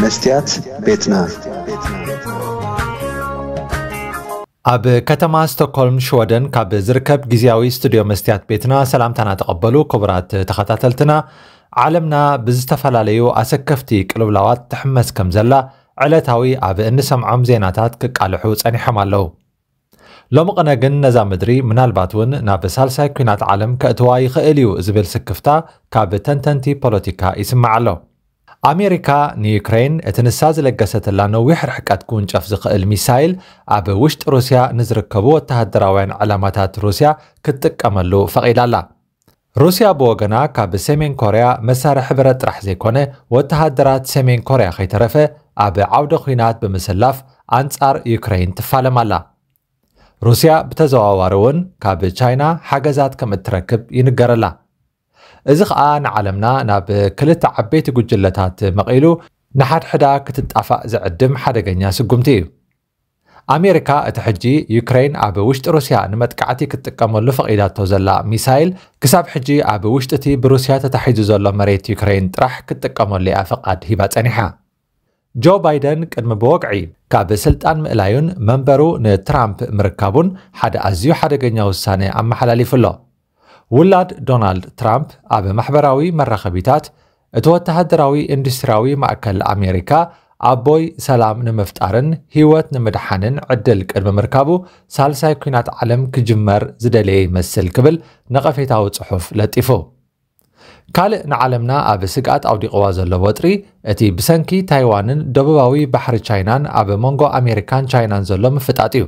መስትያት ቤትና። ኣብ ከተማ ስቶክሆልም ሽወደን ካብ ዝርከብ ግዜያዊ ስቱድዮ መስትያት ቤትና ሰላምታና ተቐበሉ። ክቡራት ተኸታተልትና፣ ዓለምና ብዝተፈላለዩ ኣሰከፍቲ ቅልውላዋት ትሕመስ ከም ዘላ ዕለታዊ ኣብ እንሰምዖም ዜናታት ክቃልሑ ጸኒሖም ኣለዉ። ሎሚ ቅነ ግን ነዛ ምድሪ ምናልባት እውን ናብ ሳልሳይ ኲናት ዓለም ከእትዋ ይኽእል እዩ ዝብል ስክፍታ ካብ ተንተንቲ ፖለቲካ ይስማዕ ኣሎ። ኣሜሪካ ንዩክሬን እቲ ንሳ ዝለገሰትላ ነዊሕ ርሕቀት ክውንጨፍ ዝኽእል ሚሳይል ኣብ ውሽጢ ሩስያ ንዝርከቡ ወተሃደራውያን ዕላማታት ሩስያ ክትጥቀመሉ ፈቒዳ ኣላ። ሩስያ ብወገና ካብ ሰሜን ኮርያ መሳርሒ ብረት ጥራሕ ዘይኮነ ወተሃደራት ሰሜን ኮርያ ከይተረፈ ኣብ ዓውደ ኲናት ብምስላፍ ኣንጻር ዩክሬን ትፋለም ኣላ። ሩስያ ብተዘዋዋሪ እውን ካብ ቻይና ሓገዛት ከም እትረክብ ይንገረላ። እዚ ኸኣ ንዓለምና ናብ ክልተ ዓበይቲ ጉጅለታት መቒሉ ንሓድሕዳ ክትጣፋእ ዝዕድም ሓደገኛ ስጉምቲ እዩ። ኣሜሪካ እቲ ሕጂ ዩክሬን ኣብ ውሽጢ ሩስያ ንመጥቃዕቲ ክትጥቀመሉ ፈቒዳቶ ዘላ ሚሳይል ክሳብ ሕጂ ኣብ ውሽጢ እቲ ብሩስያ ተታሒዙ ዘሎ መሬት ዩክሬን ጥራሕ ክትጥቀመሉ እያ ፈቓድ ሂባ ጸኒሓ። ጆ ባይደን ቅድሚ ብወግዒ ካብ ስልጣን ምእላዩን መንበሩ ንትራምፕ ምርካቡን ሓደ ኣዝዩ ሓደገኛ ውሳነ ኣመሓላሊፉ ኣሎ። ውላድ ዶናልድ ትራምፕ ኣብ ማሕበራዊ መራኸቢታት እቲ ወተሃደራዊ ኢንዱስትሪያዊ ማእከል ኣሜሪካ ኣቦይ ሰላም ንምፍጣርን ህይወት ንምድሓንን ዕድል ቅድሚ ምርካቡ ሳልሳይ ኲናት ዓለም ክጅመር ዝደለየ ይመስል ክብል ነቐፌታዊ ጽሑፍ ለጢፉ። ካልእ ንዓለምና ኣብ ስግኣት ኣውዲቕዋ ዘሎ ወጥሪ እቲ ብሰንኪ ታይዋንን ደቡባዊ ባሕሪ ቻይናን ኣብ መንጎ ኣሜሪካን ቻይናን ዘሎ ምፍጣጥ እዩ።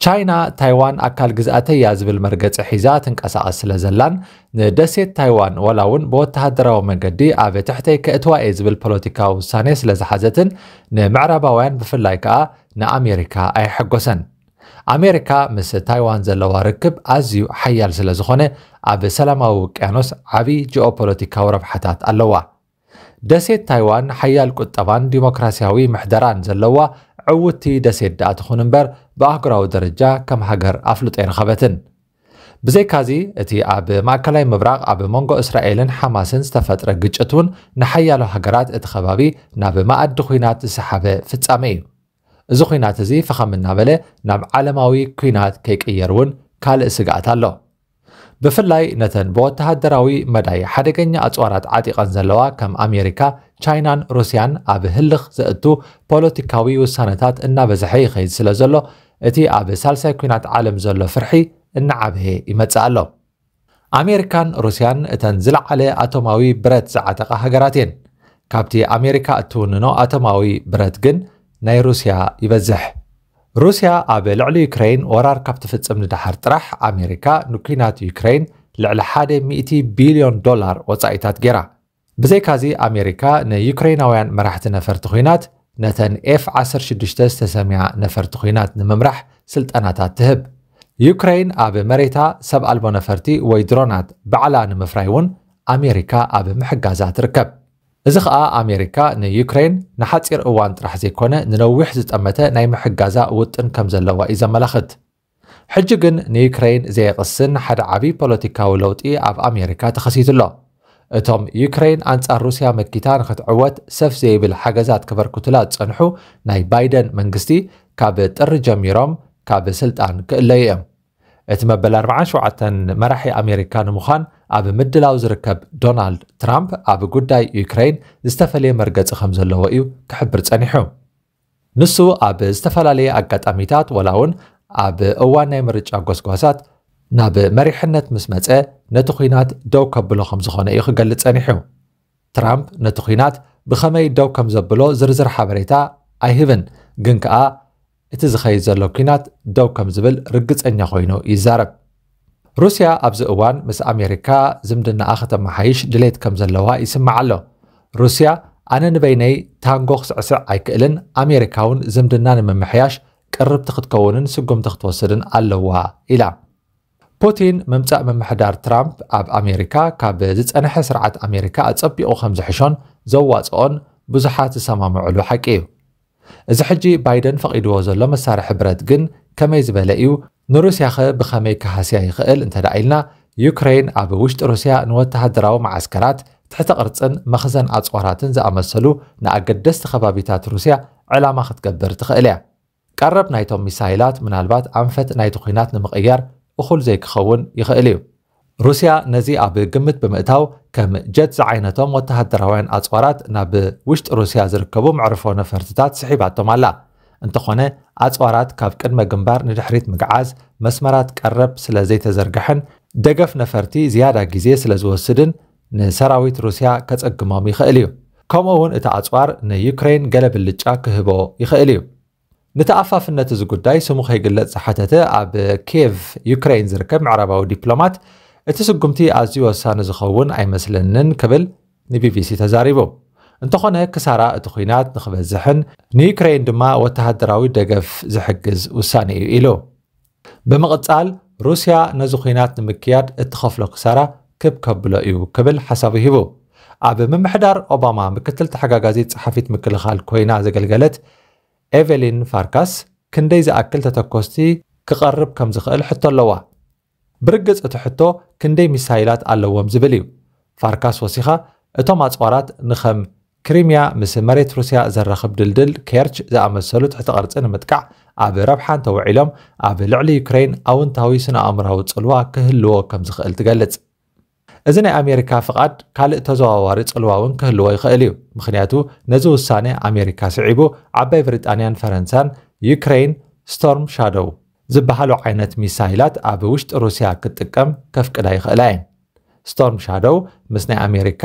ቻይና ታይዋን ኣካል ግዝኣተይ እያ ዝብል መርገጺ ሒዛ ትንቀሳቐስ ስለ ዘላን ንደሴት ታይዋን ዋላ እውን ብወተሃደራዊ መንገዲ ኣብ ትሕተይ ከእትዋ እየ ዝብል ፖለቲካዊ ውሳኔ ስለ ዝሓዘትን ንምዕራባውያን ብፍላይ ከኣ ንኣሜሪካ ኣየሐጎሰን። ኣሜሪካ ምስ ታይዋን ዘለዋ ርክብ ኣዝዩ ሓያል ስለ ዝኾነ ኣብ ሰላማዊ ውቅያኖስ ዓቢ ጂኦፖለቲካዊ ረብሓታት ኣለዋ። ደሴት ታይዋን ሓያል ቁጠባን ዲሞክራሲያዊ ምሕደራን ዘለዋ ዕውቲ ደሴት ደኣ ትኹን እምበር ብኣህጉራዊ ደረጃ ከም ሃገር ኣፍልጦ ኣይረኸበትን። ብዘይካዚ እቲ ኣብ ማእከላይ ምብራቕ ኣብ መንጎ እስራኤልን ሓማስን ዝተፈጥረ ግጭት እውን ንሓያሎ ሃገራት እቲ ከባቢ ናብ መኣዲ ኲናት ዝሰሓበ ፍጻመ እዩ። እዚ ኲናት እዚ ፈኸም እናበለ ናብ ዓለማዊ ኲናት ከይቅየር እውን ካልእ ስግኣት ኣሎ። ብፍላይ ነተን ብወተሃደራዊ መዳይ ሓደገኛ ኣጽዋራት ዓጢቐን ዘለዋ ከም ኣሜሪካ፣ ቻይናን ሩስያን ኣብ ህልኽ ዘእቱ ፖለቲካዊ ውሳነታት እናበዝሐ ይኸይድ ስለ ዘሎ እቲ ኣብ ሳልሳይ ኲናት ዓለም ዘሎ ፍርሒ እናዓበየ ይመጽእ ኣሎ። ኣሜሪካን ሩስያን እተን ዝለዓለ ኣቶማዊ ብረት ዝዓጠቓ ሃገራት እየን። ካብቲ ኣሜሪካ እትውንኖ ኣቶማዊ ብረት ግን ናይ ሩስያ ይበዝሕ። ሩስያ ኣብ ልዕሊ ዩክረይን ወራር ካብ ትፍጽም ንደሓር ጥራሕ ኣሜሪካ ንኲናት ዩክረይን ልዕሊ ሓደ ሚእቲ ቢልዮን ዶላር ወጻኢታት ገይራ። ብዘይካዚ ኣሜሪካ ንዩክረይናውያን መራሕቲ ነፈርቲ ኲናት ነተን ኤፍ ዓሰርተ ሽዱሽተ ዝተሰምያ ነፈርቲ ኲናት ንምምራሕ ስልጠናታት ትህብ። ዩክረይን ኣብ መሬታ ሰብ ኣልቦ ነፈርቲ ወይ ድሮናት ባዕላ ንምፍራይ እውን ኣሜሪካ ኣብ ምሕጋዛ ትርከብ። እዚ ኸኣ ኣሜሪካ ንዩክረይን ንሓጺር እዋን ጥራሕ ዘይኮነ ንነዊሕ ዝጠመተ ናይ ምሕጋዛ ውጥን ከም ዘለዋ እዩ ዘመላኽት። ሕጂ ግን ንዩክረይን ዘየቕስን ሓደ ዓቢ ፖለቲካዊ ለውጢ ኣብ ኣሜሪካ ተኸሲቱ ኣሎ። እቶም ዩክረይን ኣንጻር ሩስያ መኪታ ንኽትዕወት ሰፍ ዘይብል ሓገዛት ከበርክቱላ ዝጸንሑ ናይ ባይደን መንግስቲ ካብ ጥሪ ጀሚሮም ካብ ስልጣን ክእለዩ እዮም። እቲ መበል ኣርብዓን ሸውዓተን መራሒ ኣሜሪካ ንምዃን ኣብ ምድላው ዝርከብ ዶናልድ ትራምፕ ኣብ ጉዳይ ዩክረይን ዝተፈለየ መርገጺ ከም ዘለዎ እዩ ክሕብር ጸኒሑ። ንሱ ኣብ ዝተፈላለየ ኣጋጣሚታት ወላ እውን ኣብ እዋን ናይ ምርጫ ጎስጓሳት ናብ መሪሕነት ምስ መጸ ነቲ ኲናት ደው ከብሎ ከም ዝኾነ እዩ ክገልጽ ጸኒሑ። ትራምፕ ነቲ ኲናት ብኸመይ ደው ከም ዘብሎ ዝርዝር ሓበሬታ ኣይህብን፣ ግን ከኣ እቲ ዝኸይድ ዘሎ ኲናት ደው ከም ዝብል ርግጸኛ ኮይኑ ይዛረብ። ሩስያ ኣብዚ እዋን ምስ ኣሜሪካ ዝምድናኣ ከተመሓይሽ ድሌት ከም ዘለዋ ይስማዕ ኣሎ። ሩስያ ኣነ ንበይነይ ታንጎ ክስዕስዕ ኣይክእልን፣ ኣሜሪካ እውን ዝምድና ንምምሕያሽ ቅርብቲ ክትከውንን ስጉምቲ ክትወስድን ኣለዋ ኢላ። ፑቲን ምምጻእ ምምሕዳር ትራምፕ ኣብ ኣሜሪካ ካብ ዝጸንሐ ስርዓት ኣሜሪካ ኣጸቢቑ ከም ዝሕሾን ዘዋጽኦን ብዙሓት ዝሰማምዕሉ ሓቂ እዩ። እዚ ሕጂ ባይደን ፈቒድዎ ዘሎ መሳርሒ ብረት ግን ከመይ ዝበለ እዩ? ንሩስያኸ ብኸመይ ክሃስያ ይኽእል እንተ ደኣ ኢልና፣ ዩክረይን ኣብ ውሽጢ ሩስያ ንወተሃደራዊ መዓስከራት ትሕተ ቅርጽን መኽዘን ኣጽዋራትን ዝኣመሰሉ ንኣገደስቲ ከባቢታት ሩስያ ዕላማ ክትገብር ትኽእል እያ። ቀረብ ናይቶም ሚሳይላት ምናልባት ኣንፈት ናይቲ ኲናት ንምቕያር እኹል ዘይክኸውን ይኽእል እዩ። ሩስያ ነዚ ኣብ ግምት ብምእታው፣ ከም ጀት ዝዓይነቶም ወተሃደራውያን ኣጽዋራት ናብ ውሽጢ ሩስያ ዝርከቡ መዕርፎ ነፈርትታት ስሒባቶም ኣላ። እንተኾነ፣ ኣጽዋራት ካብ ቅድመ ግንባር ንድሕሪት ምግዓዝ፣ መስመራት ቀረብ ስለ ዘይተዘርግሐን ደገፍ ነፈርቲ ዝያዳ ግዜ ስለ ዝወስድን፣ ንሰራዊት ሩስያ ከጸግሞም ይኽእል እዩ። ከምኡ እውን እቲ ኣጽዋር ንዩክሬን ገለ ብልጫ ክህቦ ይኽእል እዩ። ንተኣፋፍነት እዚ ጉዳይ ስሙ ከይግለጽ ዝሓተተ ኣብ ኪየቭ፣ ዩክሬን ዝርከብ ምዕራባዊ ዲፕሎማት፣ እቲ ስጉምቲ ኣዝዩ ወሳኒ ዝኸውን ኣይመስለንን ክብል ንቢቢሲ ተዛሪቡ። እንተኾነ፣ ክሳራ እቲ ኲናት ንኽበዝሕን ንዩክሬን ድማ ወተሃደራዊ ደገፍ ዝሕግዝ ውሳነ እዩ ኢሉ። ብምቕጻል፣ ሩስያ ነዚ ኲናት ንምክያድ እትኸፍሎ ክሳራ ክብ ከብሎ እዩ ክብል ሓሳቡ ሂቡ። ኣብ ምምሕዳር ኦባማ ምክትል ተሓጋጋዚት ጸሓፊት ምክልኻል ኮይና ዘገልገለት ኤቨሊን ፋርካስ፣ ክንደይ ዝኣክል ተተኮስቲ ክቐርብ ከም ዝኽእል ሕቶ ኣለዋ። ብርግጽ እቲ ሕቶ ክንደይ ሚሳይላት ኣለዎም ዝብል እዩ። ፋርካስ ወሲኻ፣ እቶም ኣጽዋራት ንኸም ክሪሚያ ምስ መሬት ሩስያ ዘራኽብ ድልድል ኬርች ዝኣመሰሉ ትሕቲ ቅርጺ ንምጥቃዕ ኣብ ረብሓ እንተውዒሎም፣ ኣብ ልዕሊ ዩክሬን ኣውንታዊ ስነ ኣእምራዊ ጽልዋ ክህልዎ ከም ዝኽእል ትገልጽ። እዚ ናይ ኣሜሪካ ፍቓድ ካልእ ተዘዋዋሪ ጽልዋ እውን ክህልዎ ይኽእል እዩ። ምኽንያቱ፣ ነዚ ውሳነ ኣሜሪካ ስዒቡ፣ ዓባይ ብሪጣንያን ፈረንሳን ዩክሬን ስቶርም ሻዶው ዝበሃሉ ዓይነት ሚሳይላት ኣብ ውሽጢ ሩስያ ክትጥቀም ከፍቅዳ ይኽእላ እየን። ስቶርም ሻዶው ምስ ናይ ኣሜሪካ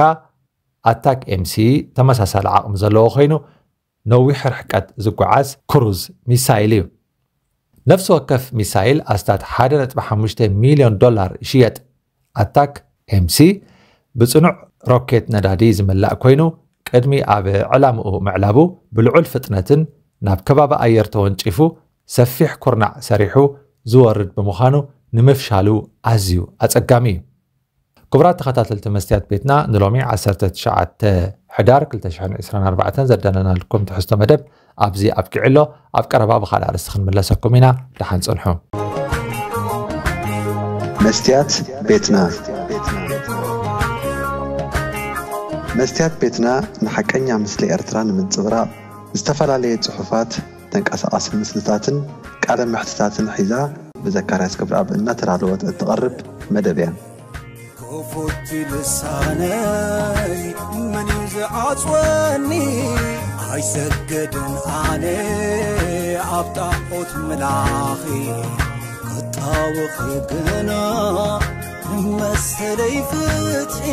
ኣታክ ኤምሲ ተመሳሳሊ ዓቕሚ ዘለዎ ኮይኑ፣ ነዊሕ ርሕቀት ዝጓዓዝ ክሩዝ ሚሳይል እዩ። ነፍሲ ወከፍ ሚሳይል ኣስታት ሓደ ነጥቢ ሓሙሽተ ሚልዮን ዶላር ይሽየጥ። ኣታክ ኤምሲ ብጽኑዕ ሮኬት ነዳዲ ዝምላእ ኮይኑ፣ ቅድሚ ኣብ ዕላምኡ ምዕላቡ ብልዑል ፍጥነትን ናብ ከባቢ ኣየር ተወንጪፉ ሰፊሕ ኩርናዕ ሰሪሑ ዝወርድ ብምዃኑ፣ ንምፍሻሉ ኣዝዩ ኣጸጋሚ እዩ። ክቡራት ተኸታተልቲ መስትያት ቤትና፣ ንሎሚ ዓሰርተ ትሽዓተ ሕዳር ክልተ ሽሕን ዕስራን ኣርባዕተን ዘዳለናልኩም ትሕዝቶ መደብ ኣብዚ ኣብቂዑ ኣሎ። ኣብ ቀረባ ብኻልእ ኣርእስቲ ክንምለሰኩም ኢና። ደሓን ጽንሑ። መስትያት ቤትና። መስትያት ቤትና ንሓቀኛ ምስሊ ኤርትራ ንምንጽብራቕ፣ ዝተፈላለየ ጽሑፋት፣ ተንቀሳቓሲ ምስልታትን ቃለ መሕትታትን ሒዛ ብዘካርያስ ገብረኣብ እናተዳለወት እትቐርብ መደብ እያ። ክፉት ልሳነይ መን እዩ ዝዓጽወኒ? ኣይሰግድን ኣነ ኣብ ጣዖት ምላኺ፣ ክጣወኺ ግና መሰለይ ፍትሒ።